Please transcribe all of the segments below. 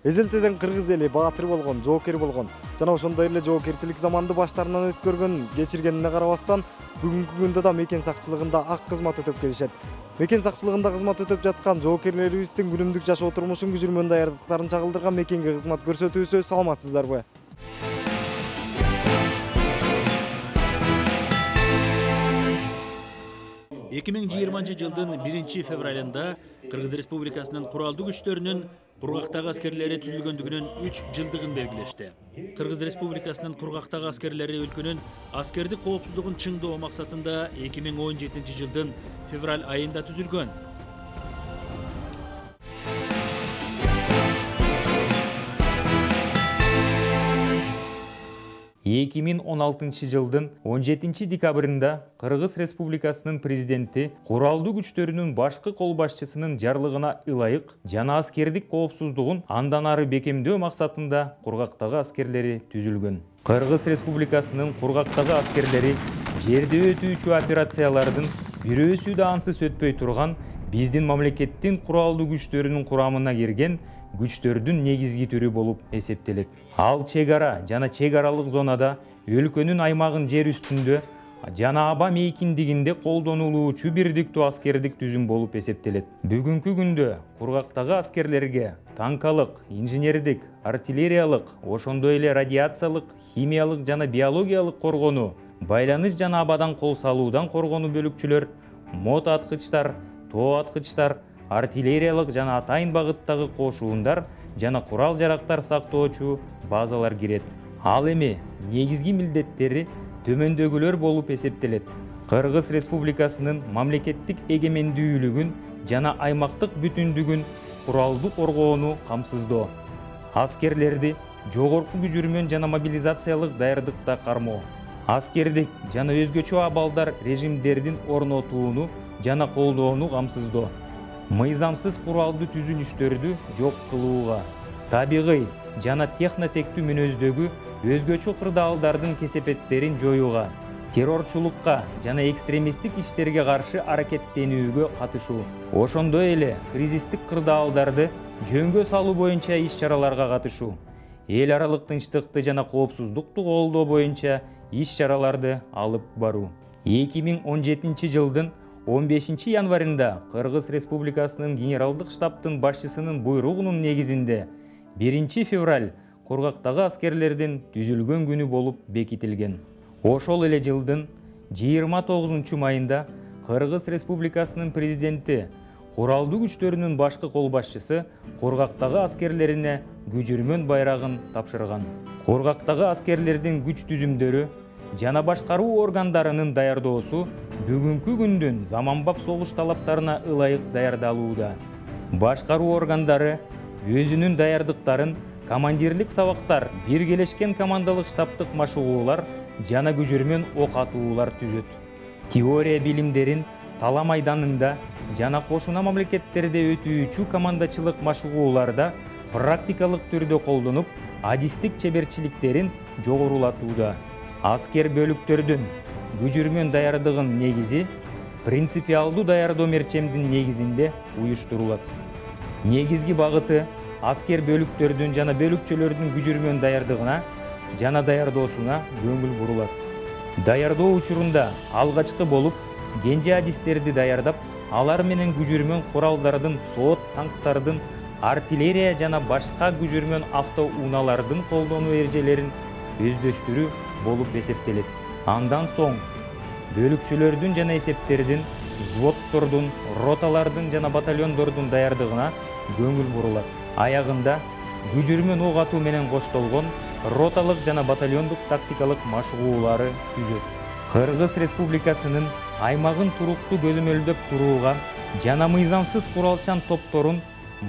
Эзелтеден кыргыз эли баатыр болгон, жоокер болгон жана ошондой эле жоокерчилик заманды баштарынан өткөргөн, кечиргенине карабастан бүгүнкү күндө да мекен сакчылыгында ак кызмат өтөп келишет. Мекен сакчылыгында кызмат өтөп жаткан жоокерлерибиздин күнүмдүк жашоо турмушун күжүрмөн даярдыктарын чагылдырган мекенге кызмат көрсөтүүсү. Саламатсыздарбы? жылдын 1 февралында Кыргыз Республикасынын куралдуу күчтөрүнүн кургактагы аскерлери түзүлгөндүгүнүн 3 жылдыгын белгилешти. Кыргыз Республикасынын кургактагы аскерлери өлкөнүн аскердик коопсуздугун чыңдоо максатында 2017 жылдын февраль айында түзүлгөн. жылдын 17 декабрында Кыргыз Республикасынын президенти куралдуу күчтөрүнүн башкы кол башчысынын жарлыгына ылайык жана аскердик коопсуздугун андан ары бекемдөө максатында кургактагы аскерлери түзүлгөн. Кыргыз Республикасынын кургактагы аскерлери жерде өтүүчү операциялардын бирөөсү да ансыз өтпөй турган биздин мамлекеттин куралдуу күчтөрүнүн курамына кирген күчтөрдүн негизги түрү болуп эсептелет. Ал чек ара жана чек аралык зонада өлкөнүн аймагын жер үстүндө жана аба мейкиндигинде колдонулуучу бирдиктүү аскердик түзүм болуп эсептелет. Бүгүнкү күндө кургактагы аскерлерге танкалык, инженердик, артиллериялык, ошондой эле радиациялык, химиялык жана биологиялык коргонуу, байланыш жана абадан кол салуудан коргонуу бөлүкчүлөр, мот аткычтар, тоо аткычтар, артиллериялык жана атайын багыттагы кошуундар жана курал-жарактар сактоочу базалар кирет. Ал эми негизги милдеттери төмөндөгүлөр болуп эсептелет. Кыргыз Республикасынын мамлекеттик эгемендүүлүгүн жана аймактык бүтүндүгүн куралдуу коргоону камсыздоо. Аскерлерди жогорку күжүрмөн жана мобилизациялык даярдыкта кармоо. Аскердик жана өзгөчө абалдар режимдердин орнотууну жана колдоону камсыздоо. Мыйзамсыз куралдуу түзүлүштөрдү жок кылууга, табигый жана технотектүү мүнөздөгү өзгөчө кырдаалдардын кесепеттерин жоюуга, террорчулукка жана экстремисттик иштерге каршы аракеттенүүгө катышуу, ошондой эле кризистик кырдаалдарды жөнгө салуу боюнча иш-чараларга катышуу, эл аралык тынчтыкты жана коопсуздукту колдоо боюнча иш-чараларды алып баруу. 2017 жылдын 15 январында Кыргыз Республикасынын генералдык штабтын башчысынын буйругунун негизинде 1 февраль кургактагы аскерлердин түзүлгөн күнү болуп бекитилген. Ошол эле жылдын 29 майында Кыргыз Республикасынын президенти куралдуу күчтөрүнүн башкы кол башчысы кургактагы аскерлерине күжүрмөн байрагын тапшырган. Кургактагы аскерлердин күч түзүмдөрү жана башкаруу органдарынын даярдоосу бүгүнкү күндүн заманбап согуш талаптарына ылайык даярдалууда. Башкаруу органдары өзүнүн даярдыктарын командирлик сабактар, биргелешкен командалык штабтык машыгуулар жана күжүрмөн ок атуулар түзөт. Теория билимдерин тала майданында жана кошуна мамлекеттерде өтүүчү командачылык машыгууларда практикалык түрдө колдонуп, адистик чеберчиликтерин жогорулатууда. Аскер бөлүктөрдүн күжүрмөн даярдыгын негизи принципиалдуу даярдоо мерчемдин негизинде уюштурулат. Негизги багыты аскер бөлүктөрдүн жана бөлүкчөлөрдүн күжүрмөн даярдыгына жана даярдоосуна көңүл бурулат. Даярдоо учурунда алгачкы болуп кенже адистерди даярдап, алар менен күжүрмөн куралдардын, сот, танктардын, артиллерия жана башка күжүрмөн автоунаалардын колдонуу эрежелерин өздөштүрүү болуп эсептелет. Андан соң бөлүкчөлөрдүн жана эсептердин, взводдордун, роталардын жана батальондордун даярдыгына көңүл бурулат. Аягында күжүрмөн ок атуу менен коштолгон роталык жана батальондук тактикалык машыгуулары түзөт. Кыргыз Республикасынын аймагын туруктуу көзөмөлдөп турууга жана мыйзамсыз куралчан топторун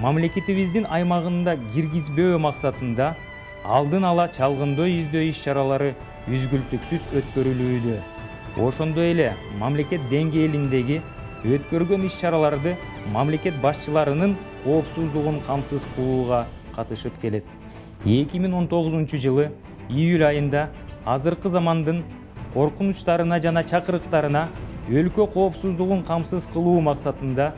мамлекетибиздин аймагында киргизбөө максатында алдын ала чалгындоо издөө иш-чаралары үзгүлтүксүз өткөрүлүүдө. Ошондой эле мамлекет деңгээлиндеги өткөргөн иш-чараларды мамлекет башчыларынын коопсуздугун камсыз кылууга катышып келет. 2019 жылы июль айында азыркы замандын коркунучтарына жана чакырыктарына өлкө коопсуздугун камсыз кылуу максатында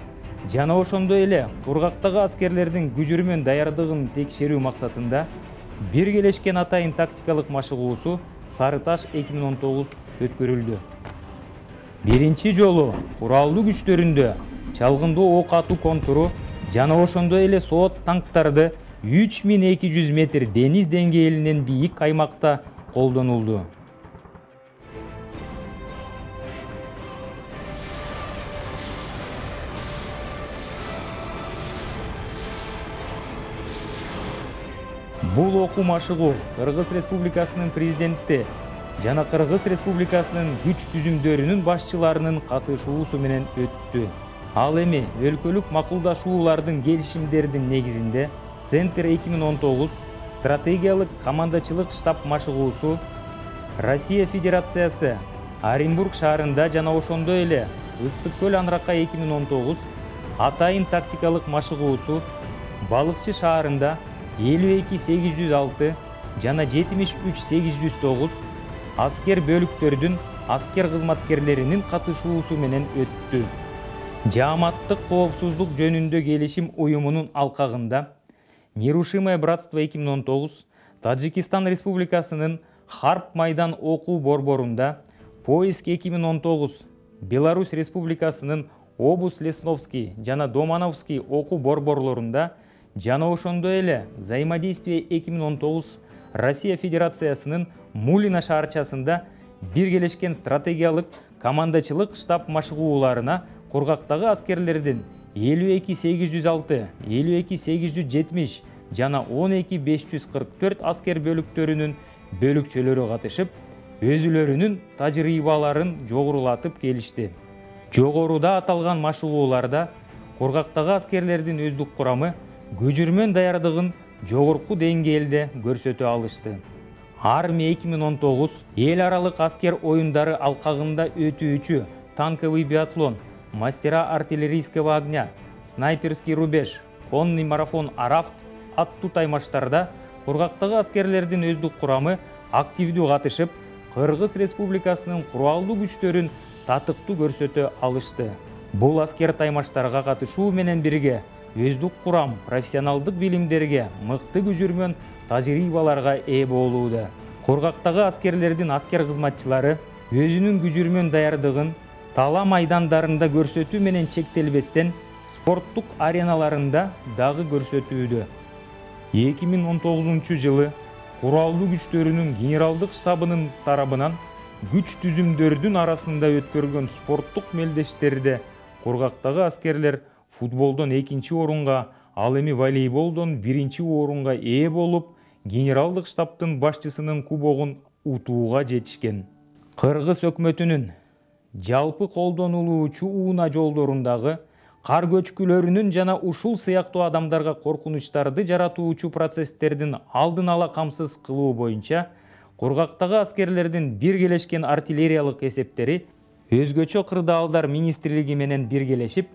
жана ошондой эле кургактагы аскерлердин күжүрмөн даярдыгын текшерүү максатында биргелешкен атайын тактикалык машыгуусу Сары Таш 2019 өткөрүлдү. Биринчи жолу куралдуу күчтөрүндө чалгындоо ок атуу контуру жана ошондой эле соот танктарды 3200 метр дениз деңгээлинен бийик аймакта колдонулду. Бул окуу машыгуу Кыргыз Республикасынын президенти жана Кыргыз Республикасынын күч түзүмдөрүнүн башчыларынын катышуусу менен өттү. Ал эми өлкөлүк макулдашуулардын келишимдердин негизинде Центр 2019 стратегиялык командачылык штаб машыгуусу Россия Федерациясы Оренбург шаарында жана ошондой эле Ысык көл Анракай 2019 атайын тактикалык машыгуусу Балыкчы шаарында 52806 жана 73809 аскер бөлүктөрдүн аскер кызматкерлеринин катышуусу менен өттү. Жааматтык коопсуздук жөнүндө келишим уюмунун алкагында Нерушимое братство 2019 Таджикистан Республикасынын Харп майдан окуу борборунда, Поиск 2019 Беларусь Республикасынын Обус Лесновский жана Домановский окуу борборлорунда жана ошондой эле Взаимодействие 2019 Россия Федерациясынын Мулина шаарчасында биргелешкен стратегиялык командачылык штаб машыгууларына кургактагы аскерлердин 52806, 52870 жана 12544 аскер бөлүктөрүнүн бөлүкчөлөрү катышып, өзүлөрүнүн тажрыйбаларын жогорулатып келишти. Жогоруда аталган машыгууларда кургактагы аскерлердин өздүк курамы күжүрмөн даярдыгын жогорку деңгээлде көрсөтө алышты. Армия 2019 эл аралык аскер оюндары алкагында өтүүчү танковый биатлон, мастера артиллерийского огня, снайперский рубеж, конный марафон Арафт аттуу таймаштарда кургактагы аскерлердин өздүк курамы активдүү катышып, Кыргыз Республикасынын куралдуу күчтөрүн татыктуу көрсөтө алышты. Бул аскер таймаштарга катышуу менен бирге өздүк курам профессионалдык билимдерге, мыкты күжүрмөн тажрыйбаларга ээ болууда. Кургактагы аскерлердин аскер кызматчылары өзүнүн күжүрмөн даярдыгын тала майдандарында көрсөтүү менен чектелбестен спорттук ареналарында дагы көрсөтүүдө. 2019 жылы куралдуу күчтөрүнүн генералдык штабынын тарабынан күч түзүмдөрдүн арасында өткөргөн спорттук мелдештерде кургактагы аскерлер футболдон 2-чи орунга, ал эми волейболдон 1-чи орунга ээ болуп, генералдык штабтын башчысынын кубогун утууга жетишкен. Кыргыз өкмөтүнүн жалпы колдонулуучу ууна жолдорундагы кар көчкүлөрүнүн жана ушул сыяктуу адамдарга коркунучтарды жаратуучу процесстердин алдын ала камсыз кылуу боюнча кургактагы аскерлердин биргелешкен артиллериялык эсептери өзгөчө кырдаалдар министрлиги менен биргелешип,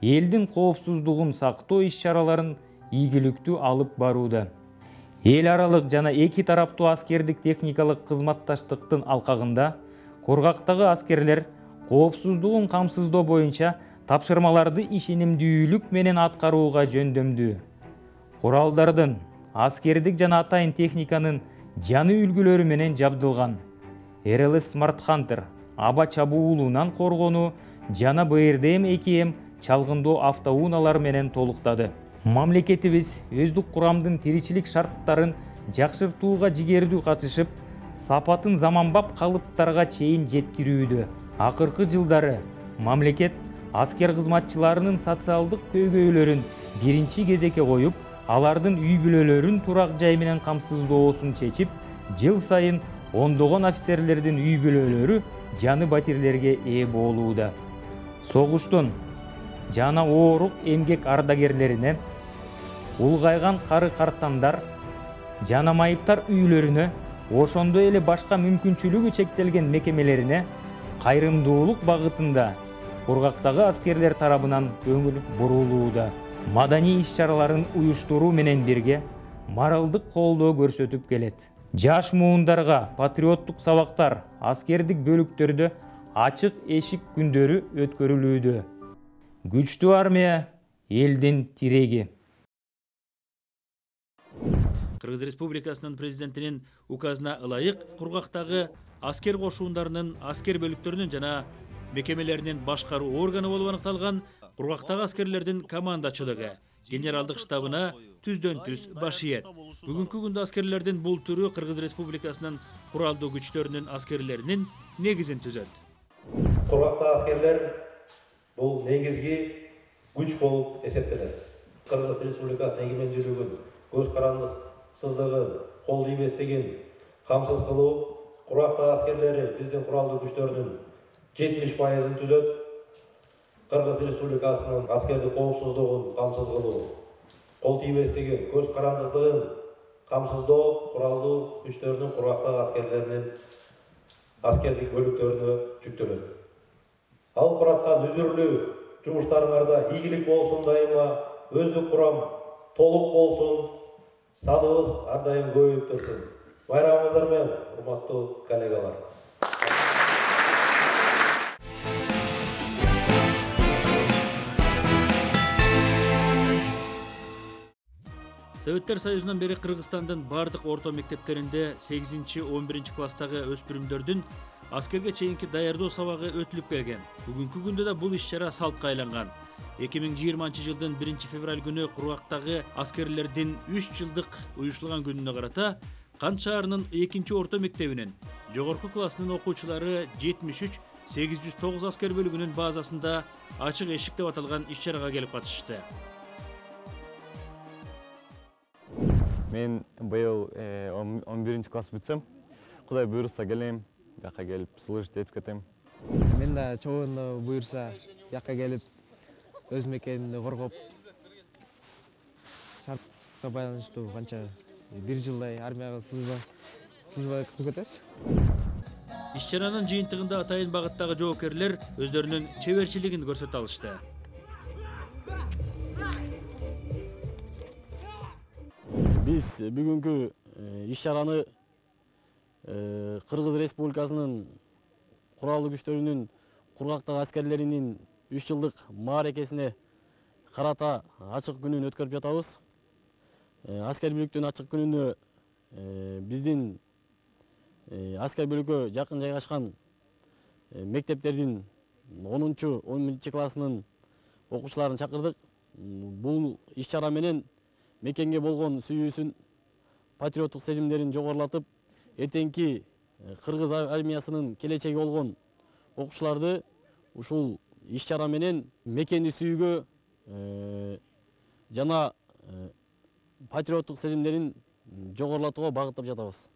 элдин коопсуздугун сактоо иш-чараларын ийгиликтүү алып барууда. Эл аралык жана эки тараптуу аскердик техникалык кызматташтыктын алкагында кургактагы аскерлер коопсуздугун камсыздоо боюнча тапшырмаларды ишенимдүүлүк менен аткарууга жөндөмдүү. Куралдардын, аскердик жана атайын техниканын жаңы үлгүлөрү менен жабдылган. RLS Smart Hunter аба чабуулунан коргонуу жана BRDM-2M чалгындоо автоуналар менен толуктады. Мамлекетибиз өздүк курамдын тиричилик шарттарын жакшыртууга жигердүү катышып, сапатын заманбап калыптарга чейин жеткирүүдө. Акыркы жылдары мамлекет аскер кызматчыларынын социалдык көйгөйлөрүн биринчи кезекке коюп, алардын үй бүлөлөрүн турак жай менен камсыздоосун чечип, жыл сайын ондогон офицерлердин үй бүлөлөрү жаңы батирлерге ээ болууда. Согуштун жана оорук эмгек ардагерлерине, улгайган кары картандар жана майыптар үйлөрүнө, ошондой эле башка мүмкүнчүлүгү чектелген мекемелерине кайрымдуулук багытында кургактагы аскерлер тарабынан көңүл бурулууда. Маданий иш-чараларын уюштуруу менен бирге моралдык колдоо көрсөтүп келет. Жаш муундарга патриоттук сабактар аскердик бөлүктөрдө ачык эшик күндөрү өткөрүлүүдө. Күчтүү армия элдин тиреги. Кыргыз Республикасынын президентинин указына ылайык кургактагы аскер кошундарынын, аскер бөлүктөрүнүн жана мекемелеринин башкаруу органы болуп аныкталган кургактагы аскерлердин командачылыгы генералдык штабына түздөн түз баш ийет. Бүгүнкү күндө аскерлердин бул түрү Кыргыз Республикасынын куралдуу күчтөрүнүн аскерлеринин негизин түзөт. Кургактагы аскерлер бул негизги күч болуп эсептелет. Кыргыз Республикасынын эгемендүүлүгүн, көз карандысыздыгын, кол тийбестигин камсыз кылуу кургактагы аскерлери биздин куралдуу күчтөрүнүн 70%-ын түзөт. Кыргыз Республикасынын аскердик коопсуздугун камсыз кылуу, кол тийбестигин, көз карандысыздыгын камсыздоо куралдуу күчтөрүнүн кургактагы аскерлеринин аскердик бөлүктөрүнө жүктөлөт. Алып бараткан үзүрлүү жумуштарыңарда ийгилик болсун дайыма, өздүк курам толук болсун, саныбыз ар дайым көбөйүп турсун. Байрамыңыздар менен, урматтуу коллегалар. Советтер Союзунан бери Кыргызстандын бардык орто мектептеринде 8-11 класстагы өспүрүмдөрдүн аскерге чейинки даярдоо сабагы өтүлүп келген. Бүгүнкү күндө да бул иш-чара салтка айланган. 2020 жылдын 1 февраль күнү кургактагы аскерлердин 3 жылдык уюштурулган күнүнө карата Кант шаарынын 2 орто мектебинин жогорку классынын окуучулары 73-809 аскер бөлүгүнүн базасында ачык эшик деп аталган иш-чарага келип катышты. Мен быйыл 11 класс бүтсөм, Кудай буйрса келем, жака келип служить этип кетем. Мен да чогууну буйрса жака келип өз мекенимди коргоп, шартка байланыштуу канча 1 жылдай армияга служба кылып кетебиз. Иш-чаранын жыйынтыгында атайын багыттагы жоокерлер өздөрүнүн чеберчилигин көрсөтө алышты. Биз бүгүнкү иш-чараны Кыргыз Республикасынын куралдуу күчтөрүнүн кургактагы аскерлеринин 3 жылдык мааракесине карата ачык күнүн өткөрүп жатабыз. Аскер бөлүктүн ачык күнүнө биздин аскер бөлүккө жакын жайгашкан мектептердин 10-11 классынын окуучуларын чакырдык. Бул иш-чара менен мекенге болгон сүйүүсүн, патриоттук сезимдерин жогорулатып, эртеңки Кыргыз армиясынын келечеги болгон окуучуларды ушул иш-чара менен мекенди сүйүүгө жана патриоттук сезимдерин жогорулатууга багыттап жатабыз.